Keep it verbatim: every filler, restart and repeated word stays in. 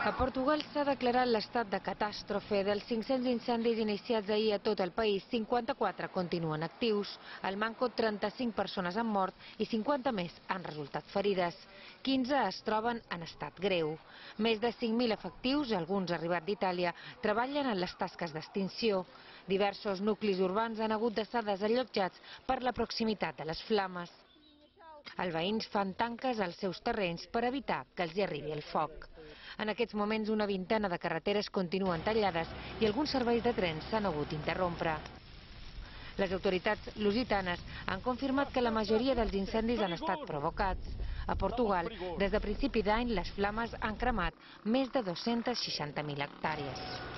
A Portugal s'ha declarat l'estat de catàstrofe. Dels cinc-cents incendis iniciats ahir a tot el país, cinquanta-quatre continuen actius. Al Manco, trenta-cinc persones han mort i cinquanta més han resultat ferides. quinze es troben en estat greu. Més de cinc mil efectius, alguns arribats d'Itàlia, treballen en les tasques d'extinció. Diversos nuclis urbans han hagut d'estar desallotjats per la proximitat de les flames. Els veïns fan tanques als seus terrenys per evitar que els hi arribi el foc. En aquests moments una vintena de carreteres continuen tallades i alguns serveis de trens s'han hagut d'interrompre. Les autoritats lusitanes han confirmat que la majoria dels incendis han estat provocats. A Portugal, des de principi d'any, les flames han cremat més de dos-centes seixanta mil hectàrees.